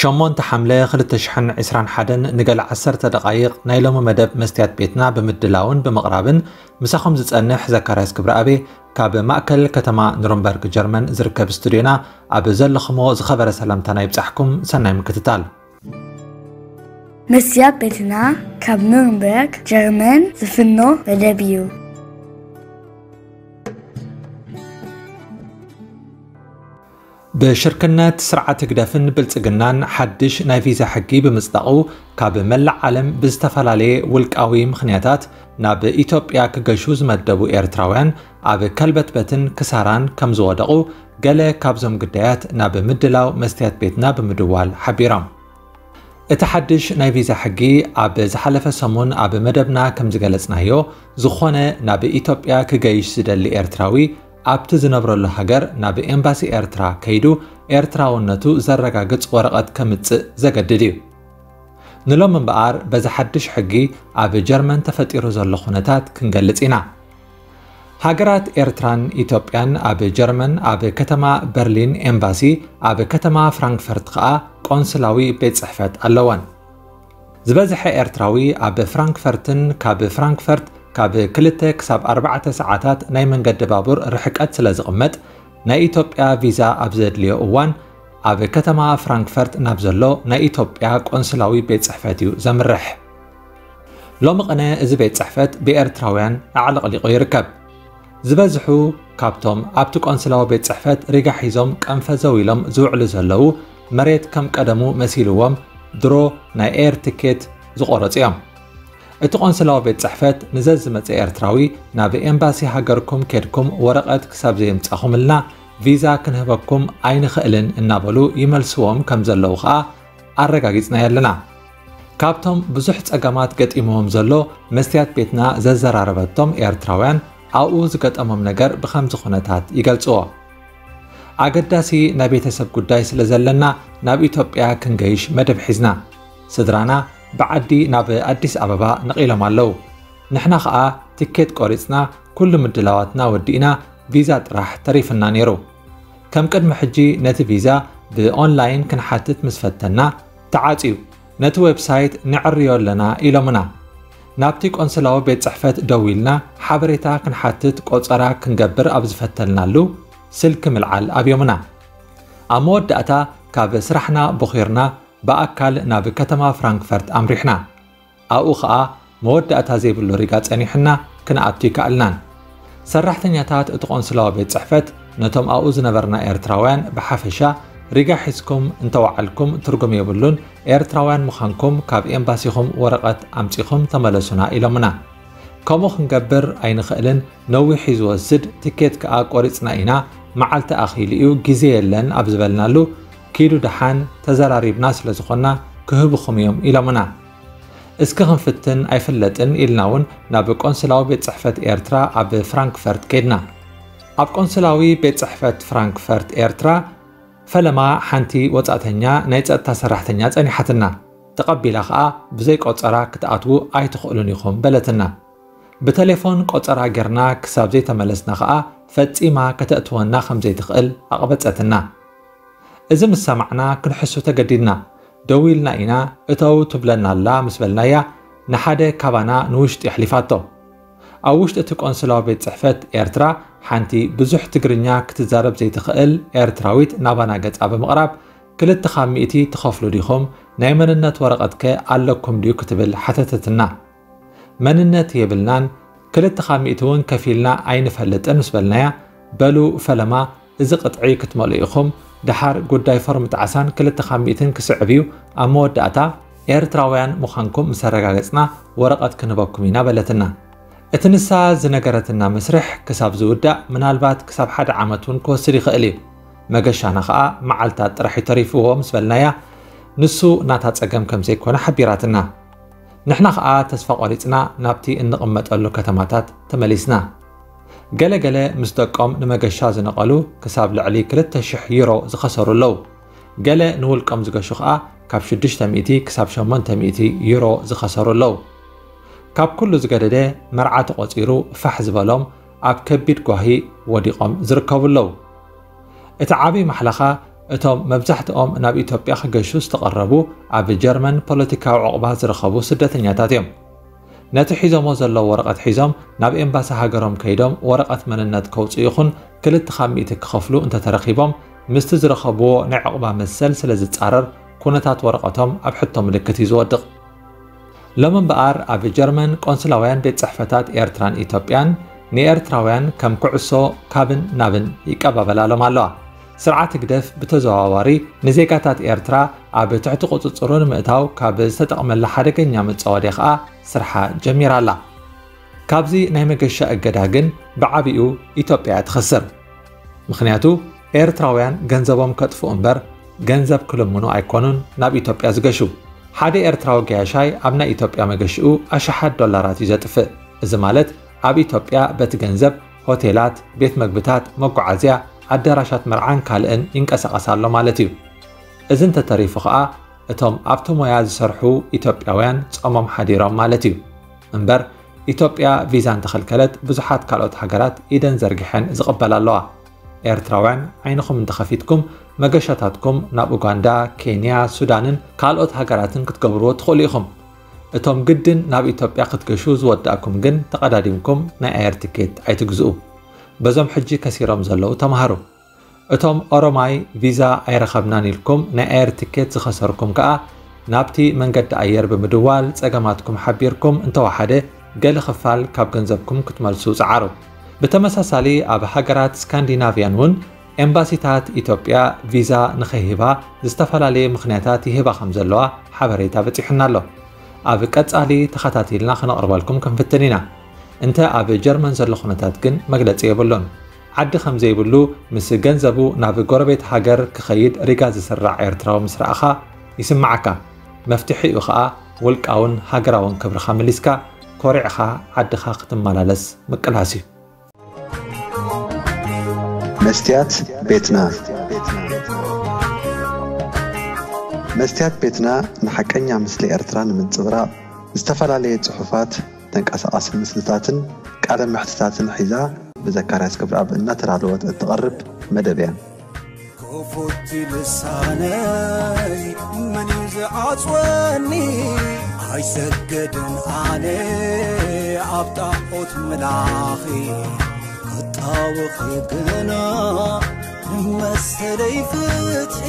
ሸሞንተ ሓምለ ክልተ ሽሕን ዕስራን ሓደን ንገለ ዓሰርተ ደቓይቕ ናይ ሎሚ መደብ መስትያት ቤትና ብምድላውን ብምቕራብን ምሳኹም ዝጸንሕ ዘካርያስ ክብረኣቤ ካብ ማእከል ከተማ ኑረምበርግ ጀርመን ዝርከብ ስቱድዮና ኣብ ዘለኹሞ ዝኸበረ ሰላምታና ይብጻሕኩም። ሰናይ ምክትታል። መስትያት ቤትና ካብ ኑረምበርግ ጀርመን ዝፍኖ መደብ እዩ። ብሽርክነት ስርዓት ህግደፍን ብልጽግናን ሓድሽ ናይ ቪዛ ሕጊ ብምጽዳቑ፣ ካብ መላእ ዓለም ብዝተፈላለየ ውልቃዊ ምኽንያታት ናብ ኢትዮጵያ ክገሹ ዝመደቡ ኤርትራውያን ኣብ ከልበትበትን ክሳራን ከም ዝወደቑ፣ ገለ ካብዞም ግዳያት ናብ ምድላው መስትያት ቤትና ብምድዋል ሓቢሮም። እቲ ሓድሽ ናይ ቪዛ ሕጊ ኣብ ዝሓለፈ ሰሙን ኣብ መደብና ከም ዝገለጽናዮ፣ ዝኾነ ናብ ኢትዮጵያ ክገይሽ ዝደሊ ኤርትራዊ ኣብቲ ዝነብረሉ ሃገር ናብ ኤምባሲ ኤርትራ ከይዱ ኤርትራውነቱ ዘረጋግጽ ወረቐት ከምጽእ ዘገድድ እዩ። ንሎም እምበኣር በዚ ሓድሽ ሕጊ ኣብ ጀርመን ተፈጢሩ ዘሎ ኩነታት ክንገልጽ ኢና። ሃገራት ኤርትራን ኢትዮጵያን ኣብ ጀርመን ኣብ ከተማ በርሊን ኤምባሲ፣ ኣብ ከተማ ፍራንክፈርት ከኣ ቆንስላዊ ቤት ጽሕፈት ኣለወን። ዝበዝሐ ኤርትራዊ ኣብ ፍራንክፈርትን ካብ ፍራንክፈርት ካብ ክልተ ክሳብ ኣርባዕተ ሰዓታት ናይ መንገዲ ባቡር ርሕቀት ስለ ዝቕመጥ፣ ናይ ኢትዮጵያ ቪዛ ኣብ ዘድልዮ እዋን ኣብ ከተማ ፍራንክፈርት ናብ ዘሎ ናይ ኢትዮጵያ ቆንስላዊ ቤት ጽሕፈት እዩ ዘምርሕ። ሎሚ ቅነ እዚ ቤት ጽሕፈት ብኤርትራውያን ኣዕለቕሊቑ ይርከብ። ዝበዝሑ ካብቶም ኣብቲ ቆንስላዊ ቤት ጽሕፈት ሪጋ ሒዞም ቀንፈዘው ኢሎም ዝውዕሉ ዘለዉ፣ መሬት ከም ቀደሙ መሲልዎም ድሮ ናይ ኤር ትኬት ዝቖረጹ እዮም። እቲ ቆንስላዊ ቤት ጽሕፈት ንዘዝመጸ ኤርትራዊ ናብ ኤምባሲ ሃገርኩም ኬድኩም ወረቐት ክሳብ ዘየምጻኹምልና ቪዛ ክንህበኩም ኣይንኽእልን እናበሉ ይመልስዎም ከም ዘለዉ ኸኣ ኣረጋጊጽናዮ ኣለና። ካብቶም ብዙሕ ጸገማት ገጢምዎም ዘሎ መስትያት ቤትና ዘዘራረበቶም ኤርትራውያን ኣብኡ ዝገጠሞም ነገር ብኸምዚ ኩነታት ይገልጽዎ። ኣገዳሲ ናይ ቤተሰብ ጉዳይ ስለ ዘለና ናብ ኢትዮጵያ ክንገይሽ መደብ ሒዝና። ስድራና ብዓዲ ናብ ኣዲስ ኣበባ ነቒሎም ኣለዉ። ንሕና ኸኣ ትኬት ቆሪጽና ኩሉ ምድላዋትና ወዲእና ቪዛ ጥራሕ ተሪፍና ነይሩ። ከም ቅድሚ ሕጂ ነቲ ቪዛ ብኦንላይን ክንሓትት ምስ ፈተና ተዓጽዩ። ነቲ ዌብሳይት ንዕርዮ ኣለና ኢሎምና። ናብቲ ቆንስላዊ ቤት ጽሕፈት ደዊልና ሓበሬታ ክንሓትት ቆጸራ ክንገብር ኣብ ዝፈተልናሉ ስልኪ ምልዓል ኣብዮምና። ኣብ መወዳእታ ካብ ስራሕና ቦኺርና ብኣካል ናብ ከተማ ፍራንክፈርት ኣምሪሕና። ኣብኡ ኸኣ መወዳእታ ዘይብሉ ሪጋ ጸኒሑና ክንኣቱ ይከኣልናን። ሰራሕተኛታት እቲ ቆንስላዊ ቤት ጽሕፈት ነቶም ኣብኡ ዝነበርና ኤርትራውያን ብሓፈሻ ሪጋ ሒዝኩም እንተወዓልኩም ትርጉም የብሉን፣ ኤርትራውያን ምዃንኩም ካብ ኤምባሲኹም ወረቐት ኣምጺኹም ተመለሱና ኢሎምና። ከምኡ ክንገብር ኣይንኽእልን፣ ነዊሕ እዩ ዝወስድ፣ ትኬት ከኣ ቆሪጽና ኢና፣ መዓልቲ ኣኺሉ እዩ፣ ግዜ የለን ኣብ ዝበልናሉ፣ ኪዱ ደሓን ተዘራሪብና ስለ ዝኾንና ክህብኹም እዮም ኢሎምና። እስኪ ክንፍትን ኣይፍለጥን ኢልና እውን ናብ ቆንስላዊ ቤት ጽሕፈት ኤርትራ ኣብ ፍራንክፈርት ከድና። ኣብ ቆንስላዊ ቤት ጽሕፈት ፍራንክፈርት ኤርትራ ፈለማ ሓንቲ ወጻእተኛ ናይ ጸጥታ ሰራሕተኛ ጸኒሓትና። ተቐቢላ ኸኣ ብዘይ ቆጸራ ክትኣትዉ ኣይትኽእሉን ኢኹም በለትና። ብተሌፎን ቆጸራ ጌርና ክሳብ ዘይተመለስና ኸኣ ፈጺማ ከተእትወና ከም ዘይትኽእል ኣቕበጸትና። እዚ ምስ ሰማዕና ክንሕሱ ተገዲድና። ደዊልና ኢና እተው ትብለና ኣላ ምስ በልናያ ንሓደ ካባና ንውሽጢ ኣሕሊፋቶ። ኣብ ውሽጢ እቲ ቆንስላዊ ቤት ጽሕፈት ኤርትራ ሓንቲ ብዙሕ ትግርኛ ክትዛረብ ዘይትኽእል ኤርትራዊት ናባና ገጻ ብምቕራብ ክልተ ካብ ሚእቲ ትኸፍሉ ዲኹም? ናይ መንነት ወረቐትከ ኣለኩም ድዩ ክትብል ሓተተትና። መንነት የብልናን፣ ክልተ ካብ ሚእቲ እውን ከፊልና ኣይንፈልጥን ምስ በልናያ፣ በሉ ፈለማ እዚ ቅጥዒ ክትመልኡ ኢኹም፣ ደሓር ጉዳይ ፎርም ጣዕሳን ክልተ ካብ ሚእትን ክስዕብ እዩ፣ ኣብ መወዳእታ ኤርትራውያን ምዃንኩም ምስ ኣረጋገጽና ወረቐት ክንህበኩም ኢና በለትና። እቲ ንሳ ዝነገረትና መስርሕ ክሳብ ዝውዳእ ምናልባት ክሳብ ሓደ ዓመት እውን ክወስድ ይኽእል እዩ። መገሻና ኸኣ መዓልታት ጥራሕ እዩ ተሪፍዎ ምስ በልናያ፣ ንሱ ናታ ጸገም ከም ዘይኮነ ሓቢራትና። ንሕና ኸኣ ተስፋ ቆሪጽና ናብቲ እንቕመጠሉ ከተማታት ተመሊስና። ገለ ገለ ምስ ደቆም ንመገሻ ዝነቐሉ ክሳብ ልዕሊ ክልተ ሽሕ ዩሮ ዝኸሰሩ ኣለዉ። ገለ ንውልቆም ዝገሹ ኸኣ ካብ ሽዱሽተ ሚእቲ ክሳብ ሸሞንተ ሚእቲ ዩሮ ዝኸሰሩ ኣለዉ። ካብ ኩሉ ዝገደደ መርዓ ተቖጺሩ ፋሕ ዝበሎም ኣብ ከቢድ ጓሂ ወዲቖም ዝርከቡ ኣለዉ። እቲ ዓብዪ ማሕለኻ እቶም መብዛሕትኦም ናብ ኢትዮጵያ ክገሹ ዝተቐረቡ ኣብ ጀርመን ፖለቲካዊ ዕቑባ ዝረኸቡ ስደተኛታት እዮም። ነቲ ሒዞሞ ዘለዉ ወረቐት ሒዞም ናብ ኤምባሲ ሃገሮም ከይዶም ወረቐት መንነት ከውፅኡ ይኹን ክልተ ካብ ሚእቲ ክኸፍሉ እንተተረኺቦም ምስቲ ዝረኸብዎ ናይ ዕቑባ መሰል ስለ ዝፃረር ኩነታት ወረቐቶም ኣብ ሕቶ ምልክት እዩ ዝወድቕ። ሎም እምበኣር ኣብ ጀርመን ቆንስላውያን ቤት ጽሕፈታት ኤርትራን ኢትዮጵያን ንኤርትራውያን ከም ኩዕሶ ካብን ናብን ይቀባበላሎም ኣለዋ። ስርዓት ህግደፍ ብተዘዋዋሪ ንዜጋታት ኤርትራ ኣብ ትሕቲ ቁጽጽሩ ንምእታው ካብ ዝተጠቕመላ ሓደገኛ መጻወድያ ኸኣ ስርሓ ጀሚራ ኣላ። ካብዚ ናይ መገሻ እገዳ ግን ብዓቢኡ ኢትዮጵያ እያ ትኸስር። ምኽንያቱ ኤርትራውያን ገንዘቦም ከጥፍኡ እምበር ገንዘብ ክልምኑ ኣይኮኑን ናብ ኢትዮጵያ ዝገሹ። ሓደ ኤርትራዊ ገያሻይ ኣብ ናይ ኢትዮጵያ መገሽኡ ኣሽሓት ዶላራት እዩ ዘጥፍእ። እዚ ማለት ኣብ ኢትዮጵያ በቲ ገንዘብ ሆቴላት፣ ቤት መግብታት፣ መጓዓዝያ፣ ኣዳራሻት መርዓን ካልእን ይንቀሳቐስ ኣሎ ማለት እዩ። እዚ እንተተሪፉ ኸኣ እቶም ኣብቲ ሞያ ዝሰርሑ ኢትዮጵያውያን ጾሞም ሓዲሮም ማለት እዩ። እምበር ኢትዮጵያ ቪዛ እንተኸልከለት ብዙሓት ካልኦት ሃገራት ኢደን ዘርጊሐን ዝቕበላ ኣለዋ። ኤርትራውያን ዓይንኹም እንተኸፊትኩም መገሻታትኩም ናብ ኡጋንዳ፣ ኬንያ፣ ሱዳንን ካልኦት ሃገራትን ክትገብርዎ ትኽእሉ ኢኹም። እቶም ግድን ናብ ኢትዮጵያ ክትገሹ ዝወዳእኩም ግን ተቐዳዲምኩም ናይ ኣየር ትኬት ኣይትግዝኡ። በዞም ሕጂ ከሲሮም ዘለዉ ተማሃሩ። እቶም ኦሮማይ ቪዛ ኣይረኸብናን ኢልኩም ናይ ኣየር ትኬት ዝኸሰርኩም ከኣ ናብቲ መንገዲ ኣየር ብምድዋል ጸገማትኩም ሓቢርኩም እንተወሓደ ገለ ክፋል ካብ ገንዘብኩም ክትመልሱ ጸዓሩ። ብተመሳሳሊ ኣብ ሃገራት ስካንዲናቭያን እውን ኤምባሲታት ኢትዮጵያ ቪዛ ንኸይህባ ዝተፈላለየ ምኽንያታት ይህባ ከም ዘለዋ ሓበሬታ በጺሑና ኣሎ። ኣብ ቀጻሊ ተኸታቲልና ክነቕርበልኩም ክንፍትን ኢና። እንተ ኣብ ጀርመን ዘሎ ኩነታት ግን መግለጺ የብሉን። ዓዲ ከም ዘይብሉ ምስ ገንዘቡ ናብ ጎረቤት ሃገር ክኸይድ ሪጋ ዝስራዕ ኤርትራዊ ምስ ረኣኻ ይስምዓካ። መፍትሒኡ ኸኣ ውልቃውን ሃገራውን ክብርኻ መሊስካ ኮሪዕኻ ዓድኻ ክትመላለስ ምቅላስ እዩ። መስትያት ቤትና። መስትያት ቤትና ንሓቀኛ ምስሊ ኤርትራ ንምንጽብራቕ ዝተፈላለየ ጽሑፋት፣ ተንቀሳቓሲ ምስልታትን ቃለ መሕትታትን ሒዛ ብዘካርያስ ገብረኣብ እናተዳለወት እትቐርብ መደብ እያ። ክፉት ልሳነይ መን እዩ ዝዓጽወኒ? ኣይሰግድን ኣነ ኣብ ጣዖት ምላኺ፣ ክጣወኺ ግና ንመሰለይ ፍትሒ።